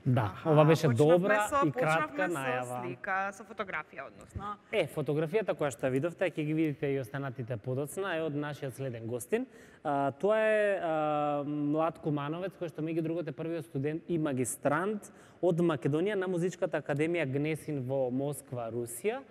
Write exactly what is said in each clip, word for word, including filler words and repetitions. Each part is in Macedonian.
Да, Аха, ова беше почнавме добра со- и кратка почнавме најава. со слика, со фотографија, односно. Е, фотографијата која што ја видовте, ќе ги видите и останатите подоцна, е од нашиот следен гостин. А, тоа е а, млад кумановец, кој што меѓу другото е првиот студент и магистрант од Македонија на Музичката академија Гнесин во Москва, Русија.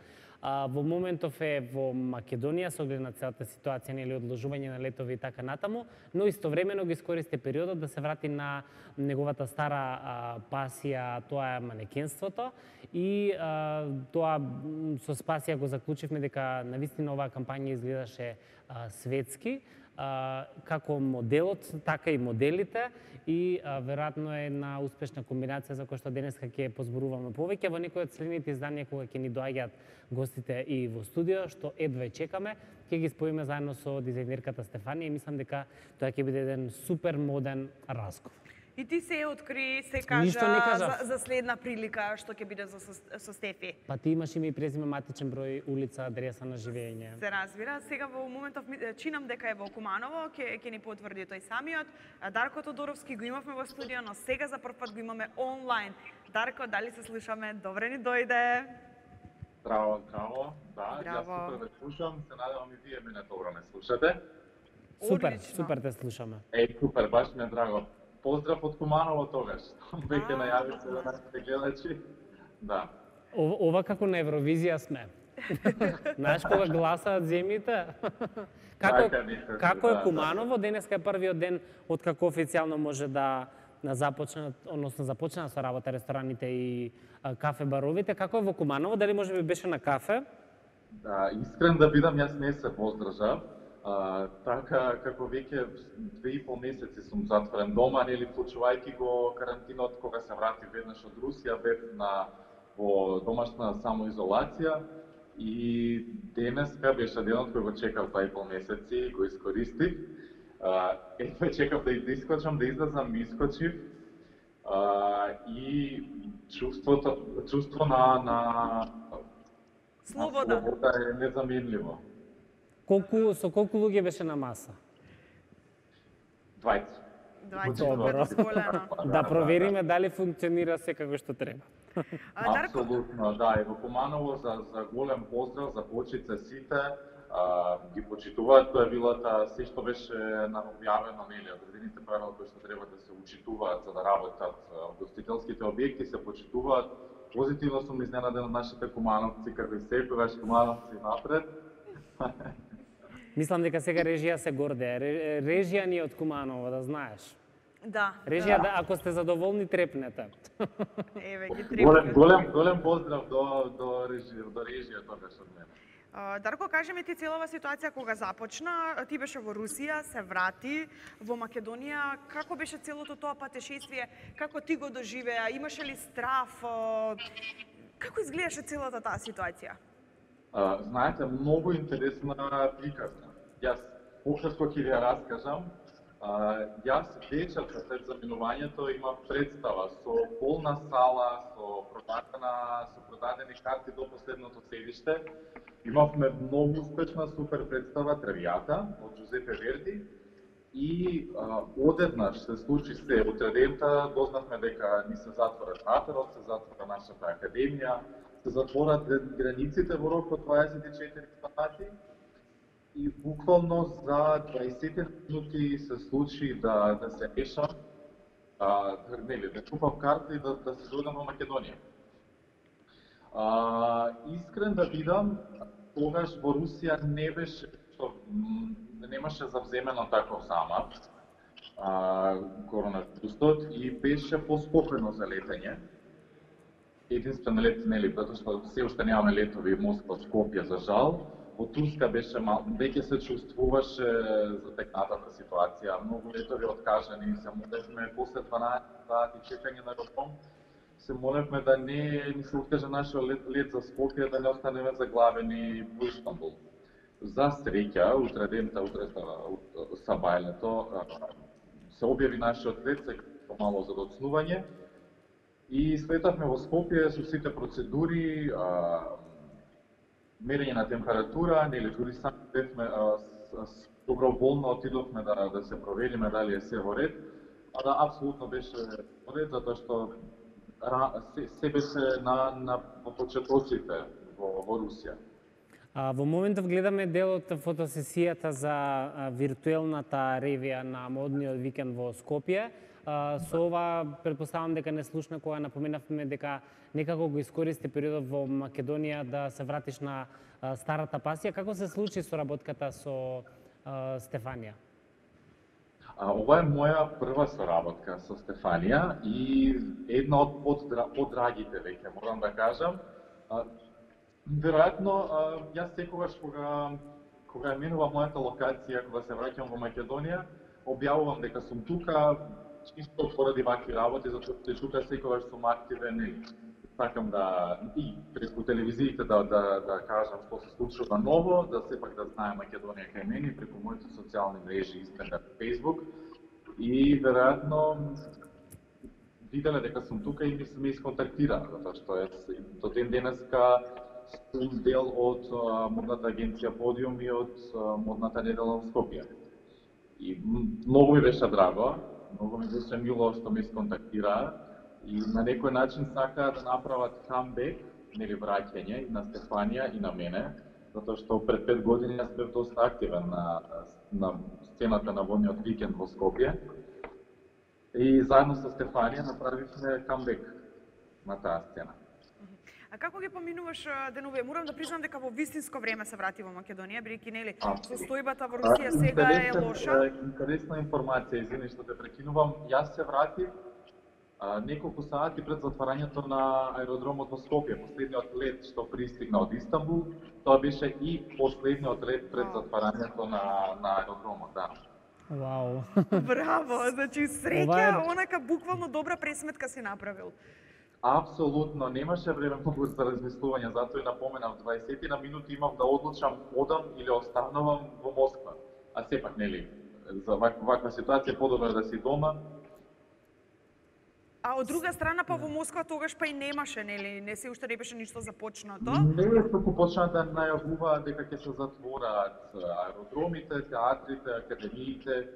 А, во моментов е во Македонија со оглед на целата ситуација или одложување на летови и така натаму, но истовремено ги искористи периодот да се врати на неговата стара а, пасија, тоа е манекенството, и а, тоа м, со Спасија го заклучивме дека навистина оваа кампања изгледаше а, светски, а, како моделот, така и моделите, и а, веројатно е една успешна комбинација за која што денеска ќе позборуваме повеќе во некои од следните изданија кога ќе ни доаѓаат гостите и во студио, што едва чекаме, ќе ги споиме заедно со дизајнерката Стефанија и мислам дека тоа ќе биде еден супер моден разговор. И ти се откри, се Ништо не кажа кажав. за, за следна прилика што ќе биде за, со, со Стефи. Па ти имаш име и презиме, матичен број, улица, адреса на живење. Се разбира. Сега во моментов ми- чинам дека е во Куманово, ќе ќе ни потврди тој самиот. А Дарко Тодоровски го имавме во студио, но сега за прв пат го имаме онлайн. Дарко, дали се слушаме? Добре ни дојде. Здраво, здраво. Да, Здраво. јас супер ве слушам, се надевам и вие мене добро ме слушате. Супер, Одлично. супер те слушаме. Еј, супер, баш ми е драго. Поздрав од Куманово тогаш. Веќе А. најави се на нашите гледачи. Да. Ова, ова како на Евровизија сме. Знаеш кога гласаат земјите? Како, Така некако, како е да, Куманово? Денеска е првиот ден од како официјално може да на започнат, односно започнаа со работа рестораните и а, кафе баровите. Како е во Куманово? Дали може би беше на кафе? Да, искрен да бидам, јас не се воздржав. А, така, како веќе две и пол месеци сум затворен дома, нели, случувајќи го карантинот, кога се врати веднаш од Русија, бев на во домашна самоизолација и денеска беше денот кој го чекав два и пол месеци и го искористив. А, едва чекав да да искочам, да излезам, искочив. А, и чувството, чувство на, на Слобода. слобода е незаменливо. Колку, со колку луѓе беше на маса? Двајца. Двајца Добро. предозволено. Да провериме дали функционира се како што треба. А, Дарко, Апсолутно, да, и во Куманово за, за голем поздрав, за почице сите, а, ги почитуваат правилата, се што беше наобјавено, нели, одредените правила кои што треба да се учитуваат за да работат а, гостителските објекти, се почитуваат. Позитивно сум изненаден од нашите кумановци, како и секогаш кумановци напред. Мислам дека сега режија се гордее. Ре- Режија ни е од Куманово, да знаеш. да. Режија, да, ако сте задоволни, трепнете. Еве ги Голем, трепки. голем, голем поздрав до, до режија, до режија тогаш од мене. А, Дарко, кажи ми ти целава ситуација кога започна, ти беше во Русија, се врати во Македонија, како беше целото тоа патешествие, како ти го доживеа, имаше ли страф, а, како изгледаше целата таа ситуација? А, знаете, многу интересна приказна. Јас пократко ќе ви ја раскажам. А, јас вечерта пред заминувањето имав представа со полна сала, со продадена, со продадени карти до последното седиште. Имавме многу успешна супер представа Травијата од Джузепе Верди и а, одеднаш се случи се утредента, дознавме дека ни се затвора театарот, се затвора нашата академија, се затворат границите во рок од дваесет и четири сати и буквално за дваесет минути се случи да, да се решам, а, нели, да купам карта и да, да се дојдам во Македонија. А, искрен да бидам, тогаш во Русија не беше, што, м, немаше завземено таков замат, а, коронавирусот и беше поспокојно за летање. Единствен лет, нели, затоа што се уште немаме летови Москва, Скопје, за жал. Во Турска беше мал, веќе се чувствуваше затекнатата ситуација, многу летови откажани, се молевме после дванаесет сати чекање на аеродром, се молевме да не ни се откаже нашиот лет, лет за Скопје, да не останеме заглавени во Истанбул. За среќа, утредента, утре сабајлето, се објави нашиот лет, се помало за доцнување, и слетавме во Скопје со сите процедури, а, мерење на температура, нели дури сами бевме доброволно отидовме да да се провериме дали е се во ред, а да апсолутно беше во ред, затоа што се, се беше на, на почетоците во, во Русија. А, во моментов гледаме дел од фотосесијата за а, виртуелната ревија на модниот викенд во Скопје. А, со ова, предпоставам дека не слушна кога напоменавме дека некако го искористи периодот во Македонија да се вратиш на а, старата пасија. Како се случи соработката со а, Стефанија? А, ова е моја прва соработка со Стефанија и една од поддра, поддрагите веќе, морам да кажам. А, веројатно, јас секогаш кога кога менува мојата локација, кога се враќам во Македонија, објавувам дека сум тука, чисто поради вакви работи, затоа што тука секогаш сум активен и сакам да и преку телевизиите да да да кажам што се случува ново, да сепак да знае Македонија кај мене преку моите социјални мрежи, интернет, Facebook. И веројатно виделе дека сум тука и ми се ме исконтактира, затоа што е до ден денеска сум дел од а, модната агенција Подиум и од а, модната недела во Скопје. И многу ми беше драго, многу ми беше мило што ме исконтактираа и на некој начин сакаат да направат камбек, нели враќање на Стефанија и на мене, затоа што пред пет години јас бев доста активен на, на сцената на модниот викенд во Скопје. И заедно со Стефанија направивме камбек на таа сцена. А како ги поминуваш денове? Морам да признам дека во вистинско време се врати во Македонија, бидејќи нели состојбата во Русија сега е лоша. Интересна информација, извини што те прекинувам. Јас се вратив а, неколку сати пред затварањето на аеродромот во Скопје, последниот лет што пристигна од Истанбул, тоа беше и последниот лет пред затварањето на на аеродромот, да. Вау. Браво, значи среќа, онака буквално добра пресметка си направил. Апсолутно, немаше време многу за размислување, затоа и напоменав дваесет на минути имав да одлучам одам или останувам во Москва. А сепак, нели, за вак, ваква ситуација подобро да си дома. А од друга страна па во Москва тогаш па и немаше, нели, не се уште не беше ништо започнато. Не, туку почна да најавуваат дека ќе се затвораат аеродромите, театрите, академиите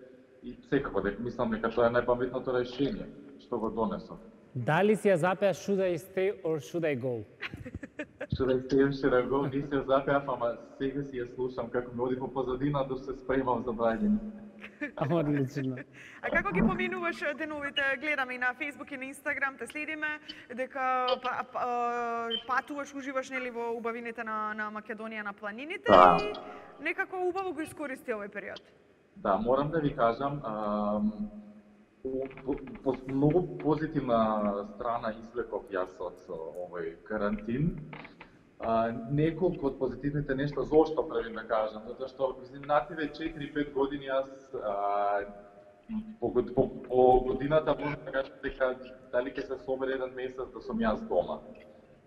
и секако дека мислам дека тоа е најпаметното решение што го донесов. Дали си ја запеа should I stay or should I go? Should I stay or should I go? Не си ја запеав, ама сега си ја слушам како ми оди по позадина да се спремам за браѓање. Одлично. А како ги поминуваш деновите? Гледаме и на Facebook и на Instagram, те следиме дека па, па, патуваш, уживаш нели во убавините на на Македонија на планините да. И некако убаво го искористи овој период. Да, морам да ви кажам, ам, по, по многу позитивна страна извлеков јас од овој карантин. А, неколку од позитивните нешта, зошто правим да кажам, затоа што изминативе четири-пет години јас а, по, по, по годината можам да кажам дека дали ќе се собере еден месец да сум јас дома.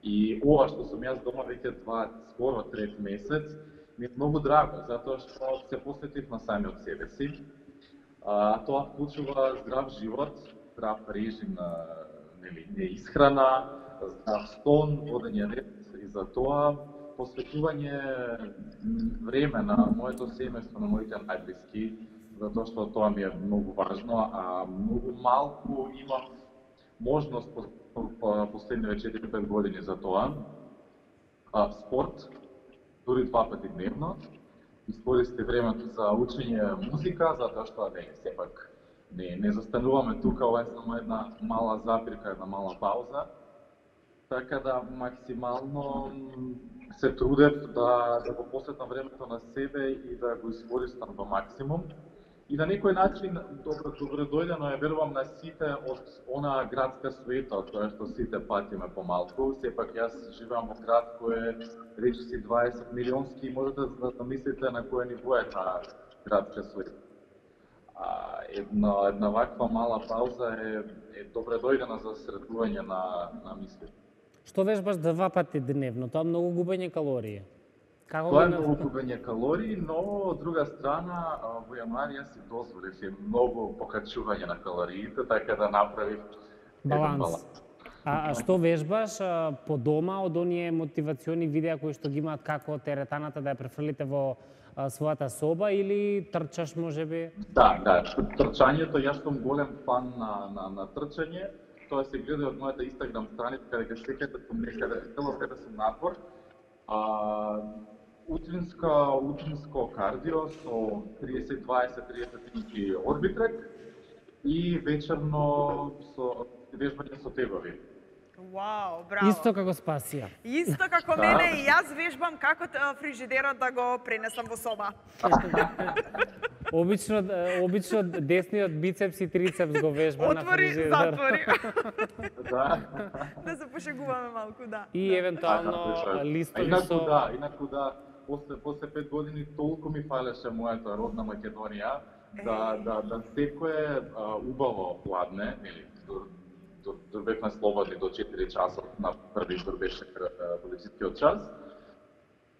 И ова што сум јас дома веќе два, скоро трет месец, ми е многу драго, затоа што се посветив на самиот себе си. А, тоа вклучува здрав живот, здрав режим на нели, исхрана, здрав стон, водење ред и за тоа посветување време на моето семејство, на моите најблиски, затоа што тоа ми е многу важно, а многу малку имав можност по, по, по последниве четири-пет години за тоа. А, спорт, дури два пати дневно, искористи времето за учење музика, затоа што не, сепак не, не застануваме тука, ова е само една мала запирка, една мала пауза. Така да максимално се трудев да, да го посветам времето на себе и да го искористам до максимум. И на некој начин, добро, добро дојдено е, верувам, на сите од она градска суета, тоа што сите патиме помалку. Сепак јас живеам во град кој е речиси дваесет милионски и можете да замислите на кој ниво е таа градска суета. А, една, една ваква мала пауза е, е добре дојдена за средување на, на мислите. Што вежбаш два пати дневно? Тоа многу губење калории. Како Тоа е многу губење калории, но од друга страна во јануари јас си дозволив и многу покачување на калориите, така да направив баланс. баланс. А, а што вежбаш а, по дома од оние мотивациони видеа кои што ги имаат како теретаната да ја префрлите во а, својата соба или трчаш можеби? Да, да, трчањето, јас сум голем фан на, на, на трчање. тоа се гледа од мојата Инстаграм страница, каде ќе секаде сум некаде, цело каде сум надвор. А, утринска, утринско кардио со триесет дваесет триесет минути орбитрек и вечерно со вежбање со тегови. Вау, браво. Исто како Спасија. Исто како мене и јас вежбам како фрижидерот да го пренесам во соба. Обично, обично десниот бицепс и трицепс го вежба на Отвори, фрижидер. затвори. Да. Да се пошегуваме малку, да. И евентуално Така, листови инаку со... да, инаку да, после после пет години толку ми фалеше мојата родна Македонија да да да секое а, убаво пладне, нели, бевме слободни до четири часот на први избор беше полицискиот час.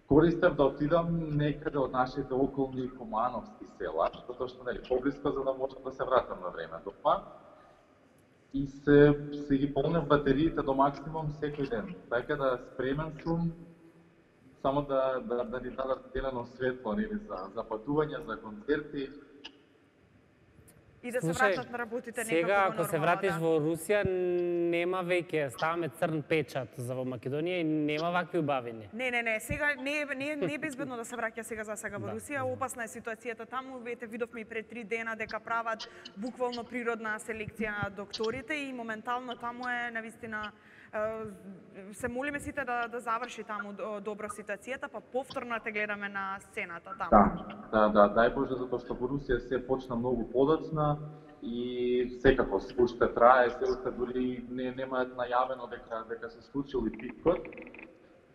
Користев да отидам некаде од нашите околни кумановски села, затоа што нели поблиско за да можам да се вратам на време дома. И се се ги полнев батериите до максимум секој ден. Така да спремен сум само да да да ни дадат зелено светло нели за за патување, за концерти. И да се Слушај, вратат на работите некако сега, во ако се нормала, вратиш да. во Русија, нема веќе, ставаме црн печат за во Македонија и нема вакви убавини. Не, не, не, сега не е не, е- не е безбедно да се враќа сега за сега во Да, Русија. Опасна е ситуацијата таму. Вете видовме и пред три дена дека прават буквално природна селекција на докторите и моментално таму е навистина е, се молиме сите да да заврши таму до- добро ситуацијата, па повторно те гледаме на сцената таму. Да, да, да, дај Боже, затоа што во Русија се почна многу подоцна и секако се уште трае, се уште дури не немаат најавено дека дека се случил и пикот.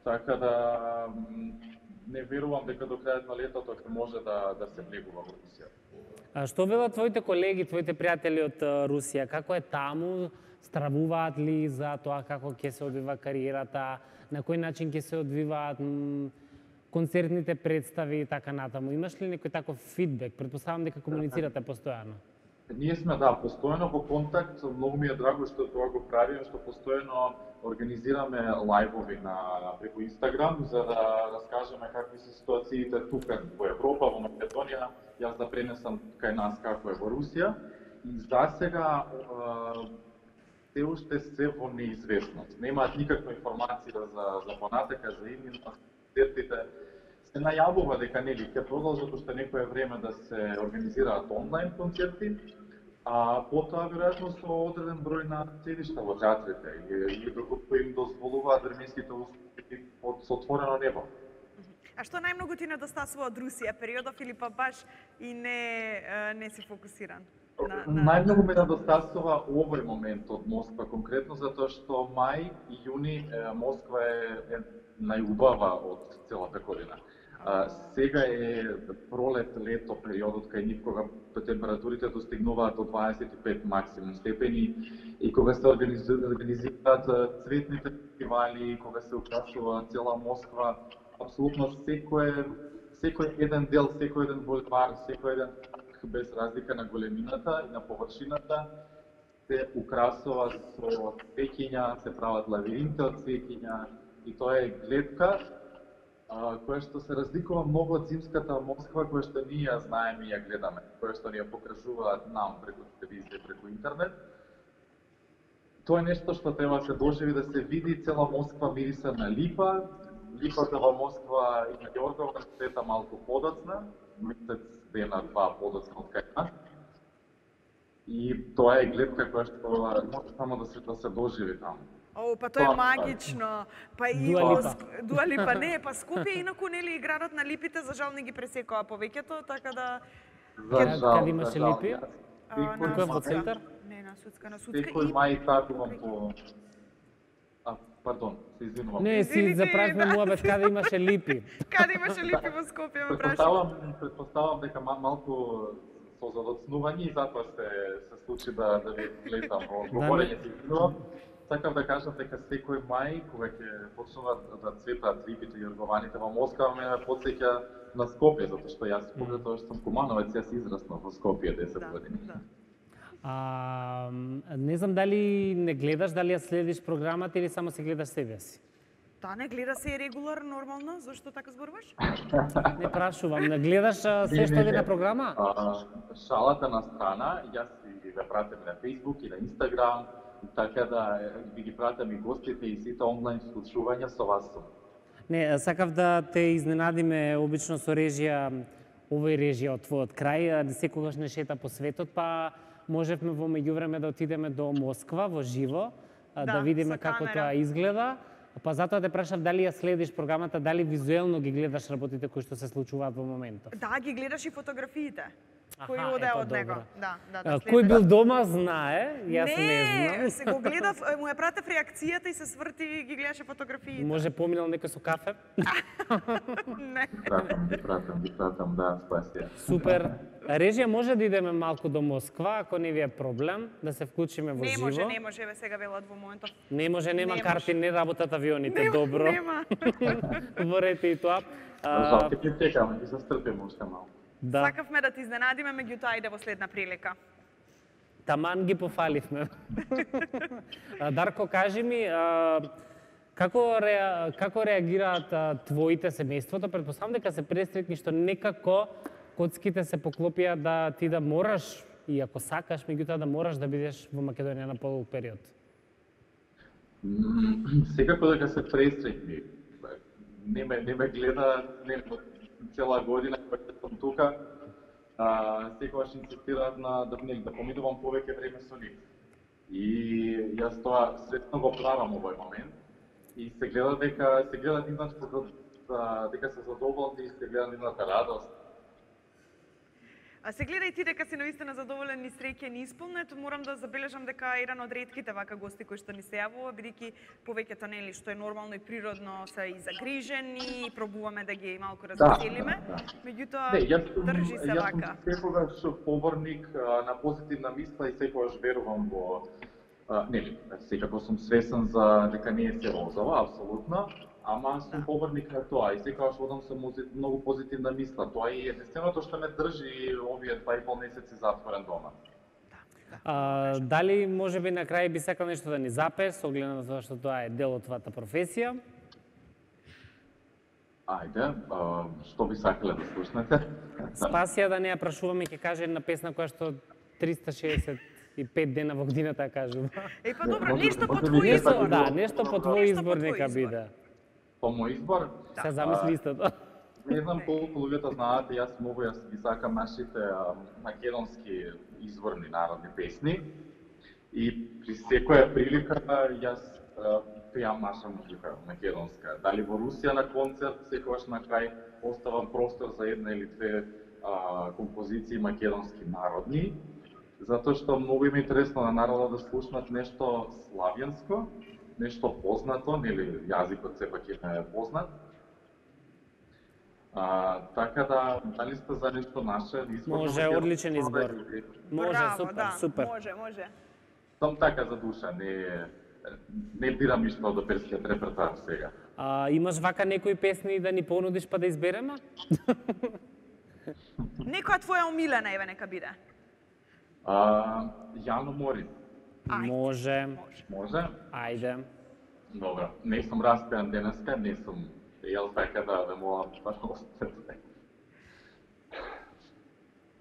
Така да м, не верувам дека до крајот на летото ќе може да да се влегува во Русија. А што велат твоите колеги, твоите пријатели од а, Русија? Како е таму? Стравуваат ли за тоа како ќе се одвива кариерата? На кој начин ќе се одвиваат м, концертните представи и така натаму? Имаш ли некој таков фидбек? Предпоставам дека комуницирате постојано. Ние сме, да, постојано во контакт, многу ми е драго што тоа го правиме, што постојано организираме лајвови на преку Инстаграм за да раскажеме какви се ситуациите тука во Европа, во Македонија, јас да пренесам кај нас како е во Русија. И за сега се уште се во неизвестност. Немаат никаква информација за за понатака, за иднина, концертите. Се најавува дека нели ќе продолжат уште некое време да се организираат онлайн концерти, а потоа веројатно со одреден број на седишта во театрите и, и доколку им дозволуваат временските услови под со отворено небо. А што најмногу ти недостасува од Русија периодов или па баш и не е, не си фокусиран? На, на... Најмногу ме недостасува овој момент од Москва конкретно затоа што мај и јуни е, Москва е, е најубава од целата година. А, сега е пролет, лето периодот кај нив кога температурите достигнуваат до дваесет и пет максимум степени и кога се организираат, организираат цветните фестивали, кога се украсува цела Москва, апсолутно секој секој еден дел, секој еден булевар, секој еден без разлика на големината и на површината се украсува со цвеќиња, се прават лавиринти од цвеќиња и тоа е гледка а, која што се разликува многу од зимската Москва која што ние ја знаеме и ја гледаме, која што ни ја покажуваат нам преку телевизија, преку интернет. Тоа е нешто што треба да се доживи, да се види. Цела Москва мириса на липа, липата во Москва и на Ѓоргово цвета малку подоцна, месец дена два подоцна од кај нас. И тоа е гледка која што може само да се да се доживи таму. О, па тоа е магично. Па и Дуа во Липа. Ск- Дуа Липа, не, па Скопје инаку нели градот на липите, за жал не ги пресекоа повеќето, така да За Каде- жал, каде имаше за жал. липи? а, Секој Тука во мај- центар? Не, на Судска, на Судска Секој и мај такувам по... А, пардон, се извинувам. Не, си Извините, запрашме да. муабет каде имаше липи. каде имаше липи во Скопје, ме прашува. Предпоставам, предпоставам дека ма- малку со задоцнување и затоа се се случи да да ви влезам во говорење си извинувам. Сакав да кажам дека секој мај кога ќе почнуваат да цветаат липите и јоргованите во Москва ме потсеќа на Скопје, затоа што јас поради тоа што сум кумановец, јас израснав во Скопје десет Да, години. да. А, не знам дали не гледаш, дали ја следиш програмата или само се гледаш себе си. Да, не гледа се регулар нормално, зашто така зборуваш? Не прашувам, не гледаш а, се Не, што не, е не. на програма? А, шалата на страна, јас и ве пратам на Facebook и на Instagram така да ви ги пратам и гостите и сите онлайн случувања со вас сум. Не, сакав да те изненадиме обично со режија, овој режија од твојот крај, секогаш не шета по светот, па можевме во меѓувреме да отидеме до Москва во живо, да, да видиме како камера. тоа изгледа. Па затоа те прашав дали ја следиш програмата, дали визуелно ги гледаш работите кои што се случуваат во моментот. Да, ги гледаш и фотографиите. Аха, Кој оде епа, од него. добро. Да, да, да. Кој бил дома знае, јас не, не знам. се го гледав, му ја пратев реакцијата и се сврти и ги гледаше фотографиите. Може поминал некој со кафе? Не. Пратам, ги пратам, ги пратам, да, спасија. Супер. Режија, може да идеме малку до Москва, ако не ви е проблем, да се вклучиме во Не живо? може, не може, ве сега велат во моментот. Не може, нема Не карти, не работат авионите, Нема, добро. нема. Ворете и тоа. Жал, ќе ќе чекаме, ќе се стрпиме уште малку. Да, Сакавме да ти изненадиме, меѓутоа ајде во следна прилика. таман ги пофаливме. А, Дарко, кажи ми, а, како, ре, како реагираат а, твоите семејството? Предпоставам дека се пресретни што некако коцките се поклопија да ти да мораш, и ако сакаш, меѓутоа да мораш да бидеш во Македонија на подолг период. Секако дека се пресретни. Не ме, не ме гледа не, цела година кога сум тука. А, секогаш инсистираат на да, не, да поминувам повеќе време со нив. И јас тоа свесно го правам овој момент. И се гледа дека се гледа нивната да, дека се задоволни и се гледа нивната радост. А се гледа и ти дека си наистина задоволен и среќен и исполнет, морам да забележам дека е еден од ретките вака гости кои што ни се јавува, бидејќи повеќето нели што е нормално и природно се и загрижени, пробуваме да ги малку развеселиме. Да, да. Меѓутоа Не, јас сум, држи се јас вака. сум секогаш поборник а, на позитивна мисла и секогаш верувам во а, нели, секако сум свесен за дека не е се розова, апсолутно, ама сум поборник на тоа и секогаш одам со многу позитивна мисла. Тоа е единственото што ме држи овие два и пол месеци затворен дома. А, дали може би на крај би сакал нешто да ни запеш, со оглед на тоа што тоа е дел од твојата професија? Ајде, а, што би сакале да слушнете? Спасија да не ја прашуваме, ќе каже една песна која што триста шеесет и пет дена во годината ја кажува. Е, па добро, Може- нешто по може твој би не избор. така Да, нешто по твој Нешто по избор твој нека избор. биде. По мој избор, Се замисли истото. не знам колку луѓето знаат, јас многу јас ги сакам нашите а, македонски изворни народни песни. И при секоја прилика јас а, пеам наша музика македонска. Дали во Русија на концерт, секогаш на крај оставам простор за една или две а, композиции македонски народни, затоа што многу им е интересно на народот да слушнат нешто славјанско, нешто познато, нели јазикот сепак е познат. А, така да, дали сте за нешто наше избор? Може, одличен избор. Може, Браво, супер, да, супер. Може, може. Сум така за душа, не не бирам ништо од оперскиот репертоар сега. А, имаш вака некои песни да ни понудиш па да избереме? Некоја твоја омилена еве нека биде. А, Јано Морин, Ајде. Може. Може. може? Ајде. Добро, не сум распеан денеска, не сум јел така да да молам да остане.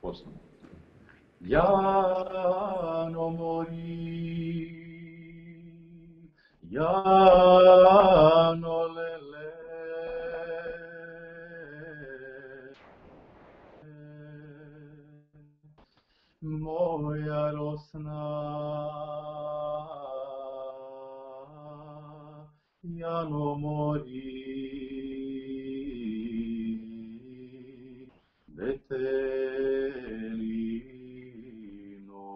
Почнемо. Јано Морин, Јано леле, моја росна, Јано Мори, детелино.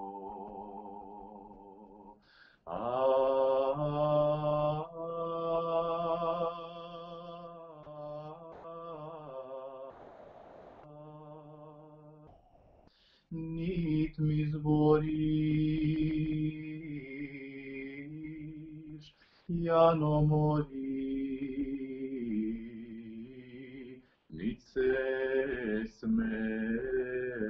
Нит ми збориш, Јано Мори, нит се смееш.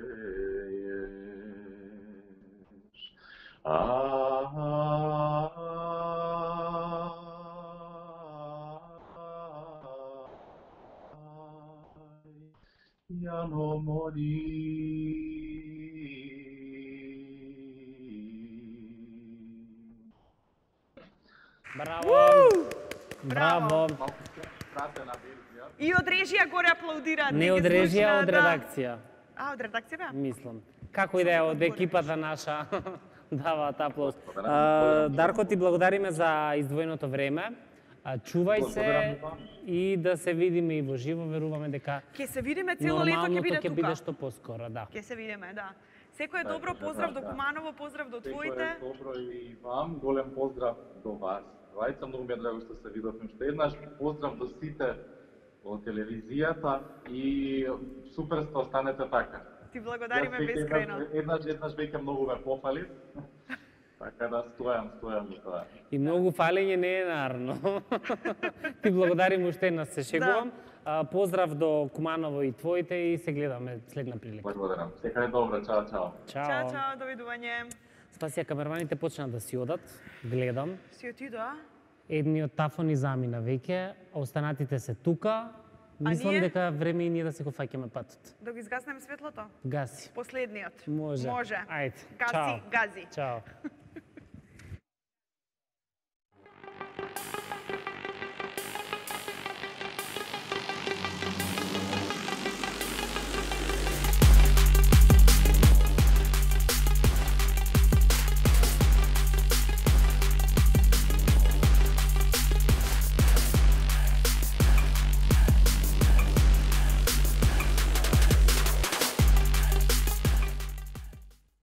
Јано Мори. Браво. Малку скратена верзија. И од режија горе аплаудираат. Не ги од режија, слушна, од да. редакција. А, од редакција беа? Мислам. Како и да е, од екипата наша даваат аплауз. Благодарам. А, Дарко, ти благодариме за издвоеното време. А, Чувај се Благодарам и вам. и да се видиме и во живо, веруваме дека Ќе се видиме цело лето, ќе нормалното биде ќе биде тука. што поскоро, да. Ќе се видиме, да. Секој е Така, добро, така, поздрав до да. Куманово, поздрав до Секој твоите. е добро и вам, голем поздрав до вас. Двајца, многу ми е драго што се видовме уште еднаш. Поздрав до сите од телевизијата и супер сте, останете така. Ти благодариме Јас веќе бескрено. Еднаш, еднаш, еднаш веќе многу ме пофали. Така да стојам, стојам до тоа. И многу фалење не е нарно. Ти благодарим уште еднаш, се шегувам. А, Поздрав до Куманово и твоите и се гледаме следна прилика. Благодарам. Сека е добро, чао, чао. Чао. Чао, чао, довидување. Спасија, камерманите почна да си одат. Гледам. Си отидоа? Едниот тафони замина веќе, а останатите се тука. Мислам ние? дека време и ние да се го фаќаме патот. Да го изгаснеме светлото? Гаси. Последниот. Може. Може. Ајде. Гаси, Чао. гази. Чао.